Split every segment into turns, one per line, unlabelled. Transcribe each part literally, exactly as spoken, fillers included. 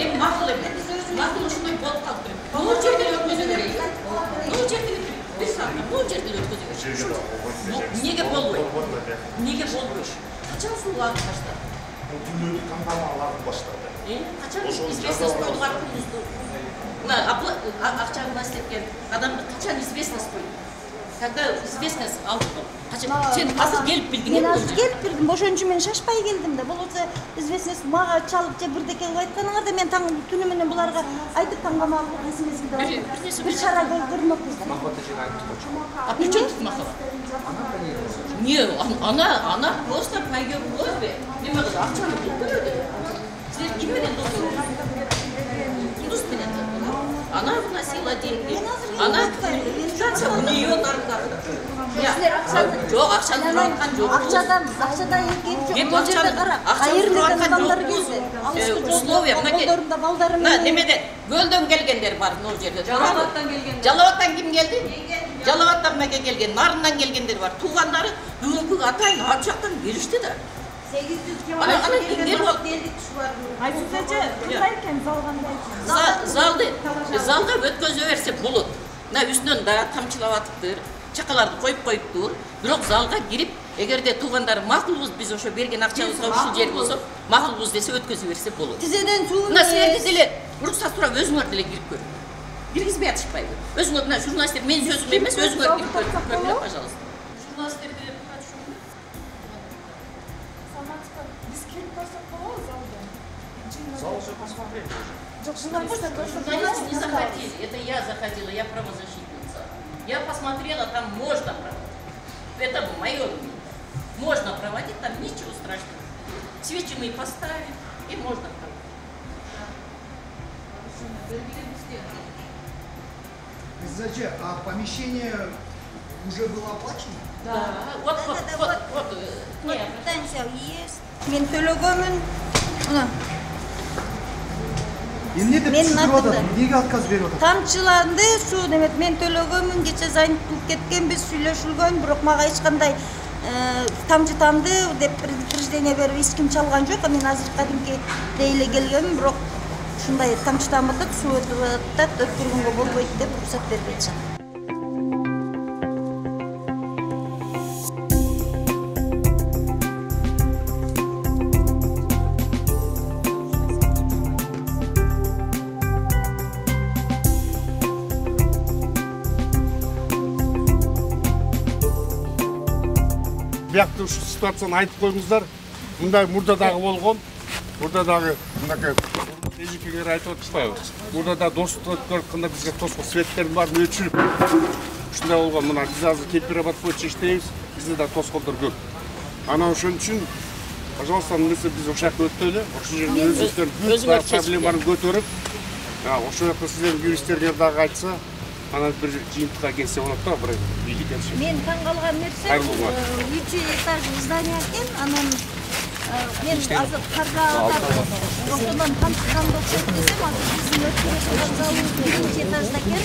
эми макул эмес. Макул ушундай болуп калып туруп. Бул жерде өткөзө берейин. Бул жерде бир саат, бул жерде өткөзө берейин. Эмнеге болбойт? Эмнеге болбойт? Качан суу агып баштады?
Түнү кампания агып баштады.
Э, качан известность койдук аркыбызды? Мына акча насиптен адамды качан известность койду? Когда известность алдык. Качан сен азыр келип билдиң
мен азыр келип билдим, ошон мен шашпай келдим да. Болбосо известность мага чалып же бирдеке кылып айтканыңарда мен таң түнү менен буларга айтып таңгамак нерсемизди да. Бир чара көрмөкпүз.
А при чём тут Махова? Не, она, она просто пойдет в просьбе. Неме кылды, акчаны бул төлөдү. Силер ким менен дос? Дос менен. Она вносила деньги. Она станция у нее наркотик. Жок, акчаны турган жок.
Акчадан, акчадан эки жок. Бул жерде кара. Кайерден адамдар келди.
Условия,
колдорунда балдары менен.
Немеден? Көлдөн келгендер бар могу жерде. Жалалабадтан келген. Жалалабадтан ким келди? Жалалабадтан меке келген, Нарындан келгендер бар. Туугандары бүгүнкү атайын ал жактан келишти да.
сегиз жүз километр
Айсызчы, кандай экен зал кандай?
Залды, залда өткөзө берсе болот. Мына үстүнөн да тамчылап атыптыр, чакаларды коюп коюптур. Бирок залга кирип, эгерде туугандар макулбуз, биз ошо берген акчабызга ушул жер болсо, макулбуз десе өткөзө берсе болот.
Тизеден суу.
Мына силерди деле уруксат сурап өзүңөр деле кирип көрүң. Киргизбей атышпайбы? Өзүңөр мына журналисттер, мен сөзүм эмес, өзүңөр кирип көрүңөр, пожалуйста. Журналисттер деле Журналисты не захотели, это я заходила, я правозащитница. Я посмотрела, там можно проводить. Это мое мнение. Можно проводить, там ничего страшного. Свечи мы поставим, и можно проводить.
Зачем? А помещение уже было оплачено?
Да. Вот, вот, вот, вот.
Вот станция есть. Мен төлөгөнмүн. Мына.
Эмне деп түшүрүп атат? Эмнеге отказ берип атат?
Тамчыланды, суу демек мен төлөгөнмүн, кече зайын кылып кеткенбиз, сүйлөшүлгөн, бирок мага эч кандай тамчы тамды деп предупреждение берип эч ким чалган жок. Мен азыр кадимки эле келгенмин, бирок ушундай тамчы тамып атат, суу өтүп атат, өткөргөнгө болбойт деп уруксат бербей атышат.
Бияқты ушу ситуацияны айтып коюңуздар. Мындай мурда дагы болгон. Мурда дагы мынакей эжекеңер айтып атышпайбы? Мурда да достук өткөрүп бизге тоско светтердин баарын өчүрүп. Ушундай болгон. Мына биз азыр температура боюнча иштейбиз. Бизде да тоскоолдор көп. Анан ошон үчүн, пожалуйста, эмесе биз ошол жакка өтөлү. Ошол жерде өзүңүздөр проблеманы көтөрүп, ошол жакта сиздердин юристтериңер дагы айтса, анан бир жыйынтыкка келсе болот да, бир бийлик келишет.
Мен таң калган нерсе, үч этажный здание экен, анан мен азыр каржа атап, ошондон тамчыган окшойт десем, азыр биздин өткөрүшүн залыбыз биринчи этажда экен,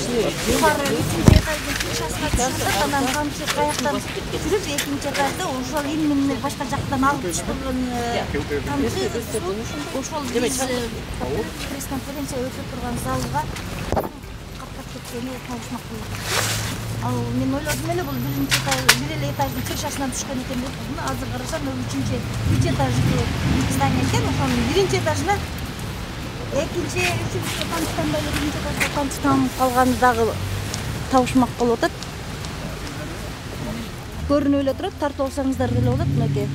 юкары үчүнчү этаждын крышасына чыгып, анан тамчы каяктан жүрүп, экинчи этажда ошол именно башка жактан алып түшүргөн тамчы, ошол биз пресс-конференция өтүп турган залга кеткени таашмак болот. Ал мен ойлодум эле бул биринчи этаж, бир эле этаждын крышасынан түшкөн экен деп, азыр карасам үчүнчү, үч этажный здание экен, ошонун биринчи этажына экинчи, үчүнчү тамчыдан эле биринчи этажда тамчы тамып калганы дагы табышмак болуп атат. Көрүнүп эле турат, тартып алсаңыздар деле болот, мынакей.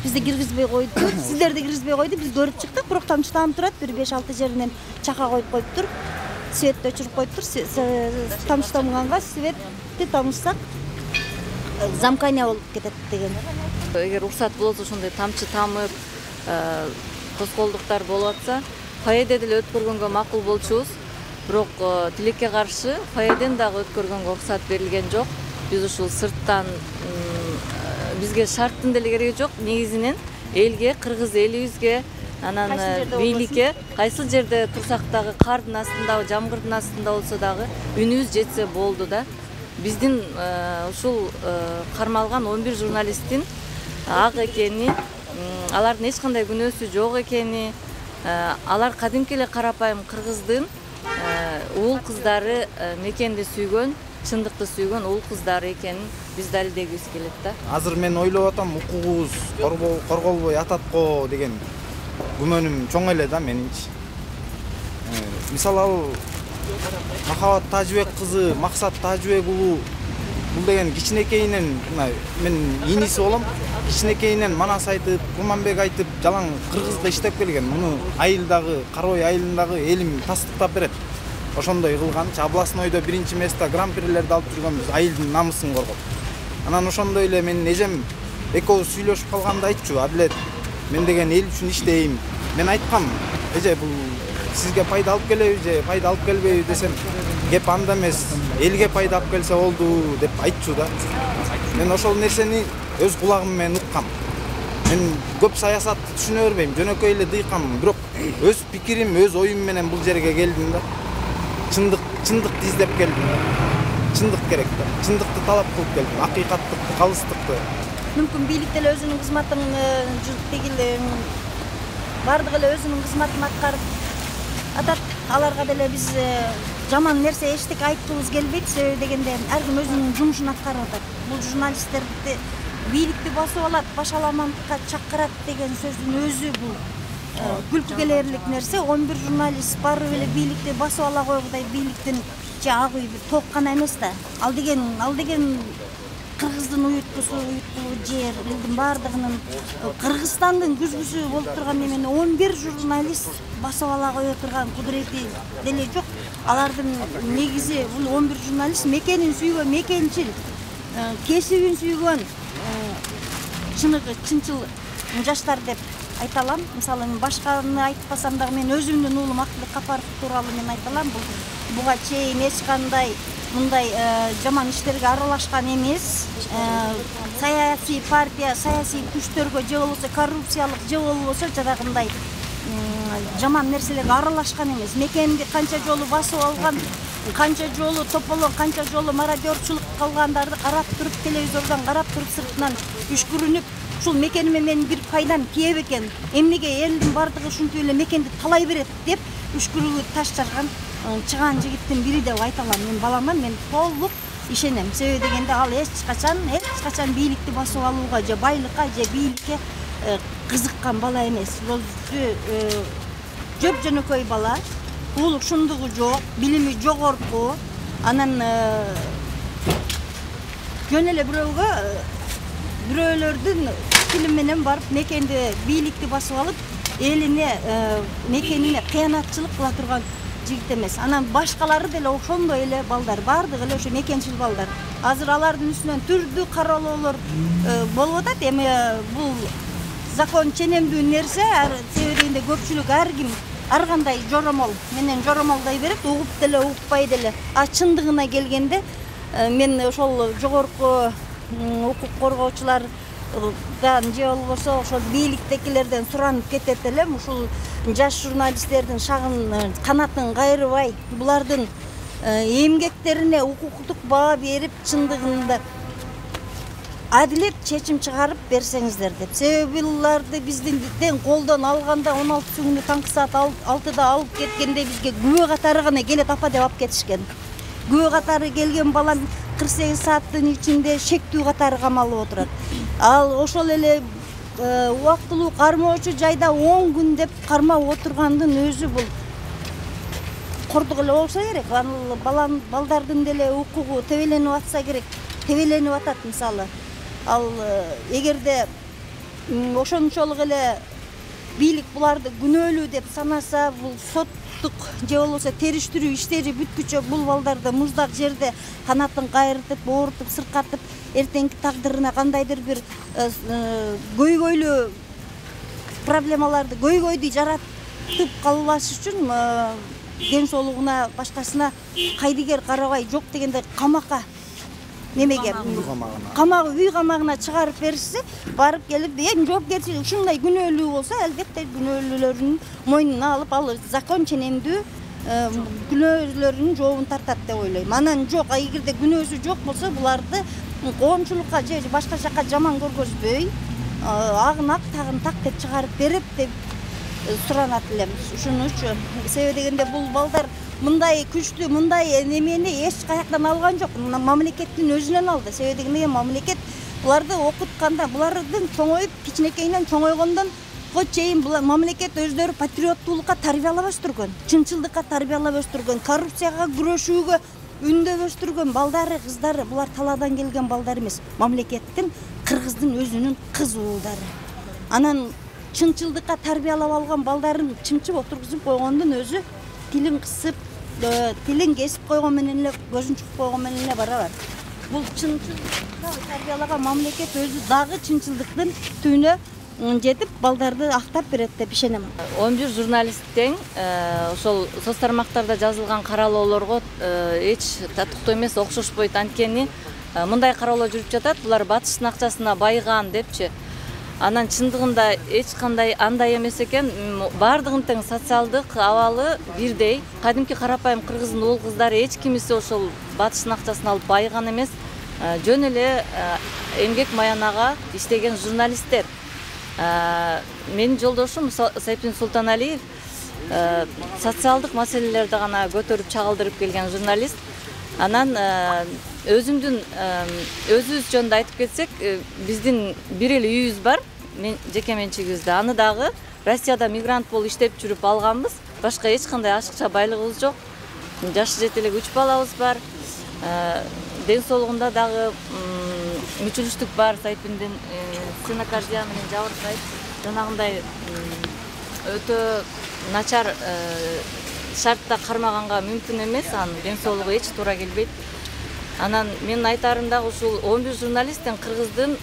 Бизди киргизбей койду, сиздерди киргизбей койду, биз көрүп чыктык, бирок тамчы тамып турат, бир беш алты жеринен чака коюп коюптур. Светти өчүрүп коюптур, тамчы тамганга светти тамышсак замкания болуп кетет деген.
Эгер уруксат болсо ошондой тамчы тамып, тоскоолдуктар болуп атса, фойеде деле өткөргөнгө макул болчубуз. Бирок тилекке каршы фойеден дагы өткөргөнгө уруксат берилген жок. Биз ушул сырттан бизге шарттын деле кереги жок. Негизинен элге, кыргыз элибизге, анан бийликке кайсыл жерде турсак дагы кардын астында, жамгырдын астында болсо дагы үнүбүз жетсе болду да. Биздин ушул кармалган он бир журналисттин ак экени, алардын эч кандай күнөөсү жок экени, Алар кадимки эле карапайым кыргыздын уул кыздары, мекенди сүйгөн, чындыкты сүйгөн уул кыздары экенин биз далилдегибиз келет да.
Азыр мен ойлоп атам, укугубуз корголбой атат го деген күмөнүм чоң эле да менинчи. Мисалы ал Махабат Тажыбек кызы, Максат Тажыбек уулу бул деген кичинекейинен мен иниси болом. Кичинекейинен манас айтып, Курманбек айтып, жалаң кыргызга иштеп келген. Муну айылдагы, Карабай айылындагы элим тастыктап берет. Ошондой кылган. Областнойдо биринчи место гран-прилерди алып жүргөнбүз, айылдын намысын коргоп. Анан ошондой эле менин эжем экөөбүз сүйлөшүп калганда айтчу, Адилет, мен деген эл үчүн иштейм. Мен айткам, эже бул сизге пайда алып келеби же пайда алып келбейби десем, кеп анда эмес, элге пайда алып келсе болду деп айтчу да. Мен ошол нерсени өз кулагым менен уккам. Мен көп саясатты түшүнө бербейм, жөнөкөй эле дыйкам, бирок өз пикирим, өз оюм менен бул жерге келдим да. Чындык, чындыкты издеп келдим. Чындык керек да. Чындыкты талап кылып келдим, акыйкаттыкты, калыстыкты.
Мүмкүн бийлик деле өзүнүн кызматын тегил бардыгы эле өзүнүн кызматын аткарып атат. Аларга деле биз жаман нерсе эчтеке айткыбыз келбейт, себеби дегенде ар ким өзүнүн жумушун аткарып атат. Бул журналисттерди бийликти басып алат, башаламандыкка чакырат деген сөздүн өзү бул күлкү келерлик нерсе. он бир журналист барып эле бийликти басып ала койгудай бийликтин ак үй ток гана эмес да. Ал деген, ал деген кыргыздын уюткусу, уюткулуу жер, элдин баардыгынын, Кыргызстандын күзгүсү болуп турган эмени он бир журналист басып ала кое турган кудурети деле жок. Алардын негизи бул он бир журналист мекенин сүйгөн, мекенчил, кесибин сүйгөн, чыныгы чынчыл жаштар деп айта алам. Мисалы мен башканы айтпасам дагы мен өзүмдүн уулум Актылык Капаров тууралуу мен айта алам. Бул буга чейин эч кандай мындай жаман иштерге аралашкан эмес. Саясий партия, саясий күчтөргө же болбосо коррупциялык же болбосо жанагындай жаман нерселерге аралашкан эмес. Мекенди канча жолу басып алган, канча жолу тополон, канча жолу мародерчулук кылгандарды карап туруп, телевизордон карап туруп, сыртынан үшкүрүнүп, ушул мекениме менин бир пайдам кээ бекен, эмнеге элдин бардыгы ушинтип эле мекенди талай берет деп үшкүрүүгө таш жарган чыгаан жигиттин бири деп айта алам. Мен баламан, мен толук ишенем. Себеби дегенде ал эч качан, эч качан бийликти басып алууга же байлыкка же бийликке кызыккан бала эмес. Өзү жөп жөнөкөй бала, уулук шундугу жок, билими жогорку. Анан жөн эле бирөөгө бирөөлөрдүн тили менен барып мекенди, бийликти басып алып, элине, мекенине кыянатчылык кыла турган жигит эмес. Анан башкалары деле ошондой эле балдар, баардыгы эле ошо мекенчил балдар. Азыр алардын үстүнөн түрдүү кароолоолор болуп атат. Эми бул закон ченемдүү нерсе, себеби дегенде көпчүлүк ар ким ар кандай жоромол менен жоромолдой берет, угуп деле укпай деле. А чындыгына келгенде мен ошол жогорку укук коргоочулар же болбосо ошол бийликтегилерден суранып кетет элем. Ушул жаш журналисттердин шагын канатын кайрыбай, булардын эмгектерине укуктук баа берип, чындыгында адилет чечим чыгарып берсеңиздер деп. Себеби буларды бизден колдон алганда он алты күндү таңкы саат алтыда алып кеткенде бизге күбө катары гана келет апа деп алып кетишкен. Күбө катары келген балам кырк сегиз сааттын ичинде шектүү катары камалып отурат. Ал ошол эле убактылуу кармоочу жайда он күн деп кармап отургандын өзү бул кордук эле болсо керек. Балам балдардын деле укугу тебеленип атса керек, тебеленип атат. Мисалы, ал эгерде ошончолук эле бийлик буларды күнөөлүү деп санаса, бул соттук же болбосо териштирүү иштери бүткүчө бул балдарды муздак жерде канатын кайрытып, оорутуп, сыркатып, эртеңки тагдырына кандайдыр бир көйгөйлүү проблемаларды, көйгөйдү жаратып калбаш үчүн ден соолугуна, башкасына кайдыгер карабай, жок дегенде камакка, немеге, камак, үй камагына чыгарып беришсе, барып келип, эң жоопкерчилик ушундай күнөөлүү болсо, албетте күнөөлүүлөрүнүн мойнуна алып, ал закон ченемдүү күнөөлөрүнүн жообун тартат деп ойлойм. Анан жок, эгерде күнөөсү жок болсо, буларды коомчулукка же башка жакка жаман көргөзбөй, агын ак, тагын так деп чыгарып берип деп суранат элемиз. Ушуну үчүн себеби дегенде бул балдар мындай күчтүү, мындай немени эч каяктан алган жок. Мамлекеттин өзүнөн алды. Себеби дегенде мамлекет буларды окутканда, булардын чоңоюп, кичинекейинен чоңойгондон го чейин булар мамлекет өздөрү патриоттуулукка тарбиялап өстүргөн, чынчылдыкка тарбиялап өстүргөн, коррупцияга күрөшүүгө үндөп өстүргөн балдары, кыздары, булар талаадан келген балдар эмес. Мамлекеттин, кыргыздын өзүнүн кыз уулдары. Анан чынчылдыкка тарбиялап алган балдарын чымчып отургузуп койгондун өзү тилин кысып, тилин кесип койгон менен эле, көзүн чукуп койгон менен эле барабар. Бул чынчылдыкка тарбиялаган мамлекет өзү дагы чынчылдыктын түбүнө жетип балдарды актап берет деп ишенем.
он бир журналист тең ошол соц тармактарда жазылган каралоолорго эч татыктуу эмес, окшошпойт. Анткени мындай кароолоо жүрүп жатат, булар батыштын акчасына байыган депчи. Анан чындыгында эч кандай андай эмес экен. Бардыгын тең социалдык абалы бирдей. Кадимки карапайым кыргыздын уул кыздары эч кимиси ошол батыштын акчасын алып байыган эмес. Жөн эле эмгек маянага иштеген журналисттер. Менин жолдошум Сайпин Султаналиев социалдык маселелерди гана көтөрүп чагылдырып келген журналист. Анан өзүмдүн өзүбүз жөнүндө айтып кетсек, биздин бир эле үйүбүз бар, мен жеке менчигибизде. Аны дагы Россияда мигрант болуп иштеп жүрүп алганбыз. Башка эч кандай ашыкча байлыгыбыз жок. Жашы жете элек үч балабыз бар. Ден соолугунда дагы мүчүлүштүк бар. Сайпиндин стенокардия менен жабыркайт. Жанагындай өтө начар шартта кармаганга мүмкүн эмес, анын ден соолугу эч туура келбейт. Анан менин айтарым дагы ушул он бир журналисттин кыргыздын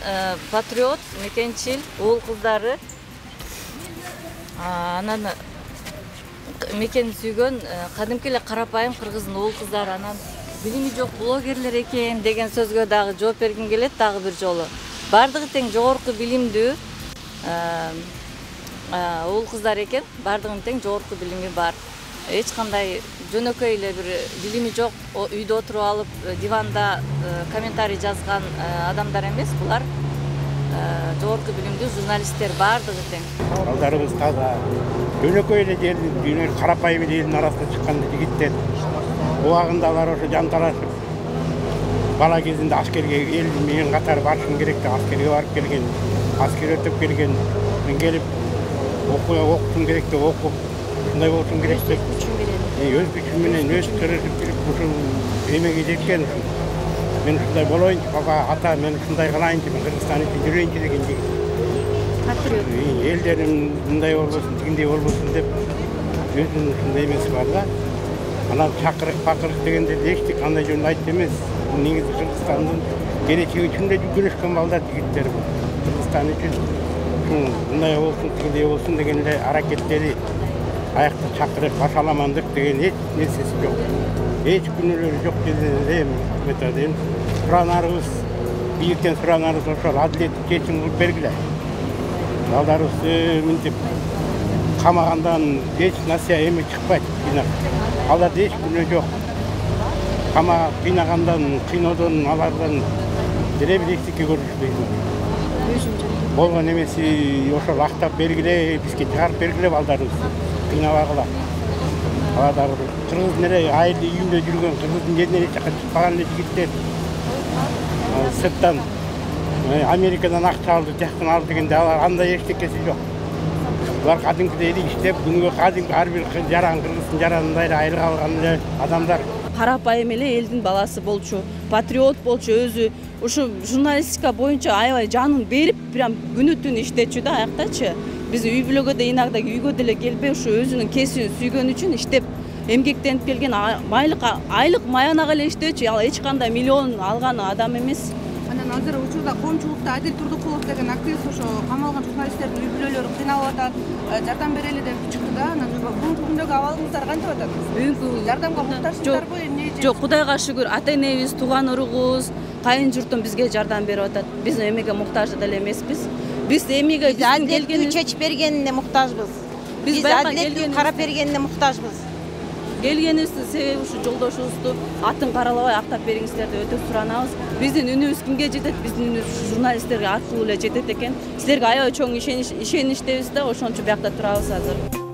патриот, мекенчил уул кыздары, анан мекенин сүйгөн кадимки эле карапайым кыргыздын уул кыздары, анан билими жок блогерлер экен деген сөзгө дагы жооп бергим келет дагы бир жолу. Бардыгы тең жогорку билимдүү уул кыздар экен, бардыгынын тең жогорку билими бар. Эч кандай жөнөкөй эле бир билими жок, үйдө отуруп алып диванда комментарий жазган адамдар эмес, булар жогорку билимдүү журналисттер бардыгы тең.
Балдарыбыз таза, жөнөкөй эле жердин карапайым элдин арасына чыккан жигиттер. Убагында алар ошо жанталашып, бала кезинде аскерге эл менен катар барышым керек деп аскерге барып келген, аскер өтүп келген, мен келип окутум керек деп окуп, ушундай болушум керек деп өз күчүм менен өз тырышып жүрүп ушул эмеге жеткен. Мен ушундай болоюнчу, баба, ата, мен ушундай кылайынчы, мен Кыргызстан үчүн жүрөйүнчү деген жигит. Патриот. Элдерим мындай болбосун, тигиндей болбосун деп өзүнүн ушундай эмеси бар да. Анан чакырык бакырык дегенде эчтик кандай жөнүндө айтып эмес. Негизи Кыргызстандын келечеги үчүн эле күрөшкөн балдар, жигиттер бул. Кыргызстан үчүн мындай болсун, тигиндей болсун деген эле аракеттери, аякта чакырып башаламандык деген эч нерсеси жок. Эч күнөөлөрү жок деген методен суранарыбыз, бийиктен суранарыбыз ошол адилеттик чечим кылып бергиле. Балдарыбызды мынтип камагандан эч насия эме чыкпайт. Аларда эч күнөө жок. Кама кыйнагандан, кыйноодон, алардан деле бир эчтеке көрүшпөйт. Болгон эмеси ошол актап бергиле, бизге чыгарып бергиле балдарыбызды. Кыйнабагыла. Алар дагы кыргыздын эле айылы үйүндө жүргөн, кыргыздын жеринен эч жака чыкпаган эле жигиттер. Сырттан Америкадан акча алды, жактан алды дегенде алар андай эчтекеси жок. Булар кадимкидей эле иштеп, күнүгө кадимки ар бир жаран кыргыздын жаранындай эле айрыга алган эле адамдар.
Карапайым эле элдин баласы болчу, патриот болчу, өзү ушу журналистика боюнча аябай жанын берип, прям күнү түн иштечү да аяктачы. Биз үй бүлөгө да иногда үйгө деле келбей ушу өзүнүн кесибин сүйгөн үчүн иштеп, эмгектенип келген айлык айлык маянага эле иштечү, ал эч кандай миллион алган адам эмес.
Анан азыр учурда коомчулукта Адил Турдукулов деген активист ошо камалган журналисттердин үй бүлөлөрү кыйналып атат, жардам берели деп чыкты да. Анан бүгүнкү күндөгү абалыңыздар кантип атат?
Бүгүнкү
жардамга муктажсыздарбы, эмне?
Жок, Кудайга шүгүр, ата энебиз, тууган уругубуз, кайын журтум бизге жардам берип атат. Биз эмеге муктаж деле эмеспиз. Биз эмеге биздин келгенибиз
чечип бергенине муктажбыз. Биз адилеттүү карап бергенине муктажбыз.
келгенибиздин себеби ушу жолдошубузду атын каралабай актап бериңиздер деп өтө суранабыз. Биздин үнүбүз кимге жетет? Биздин үнүбүз журналисттерге аркылуу эле жетет экен. Силерге аябай чоң ишеништебиз да, ошон үчүн биякта турабыз азыр.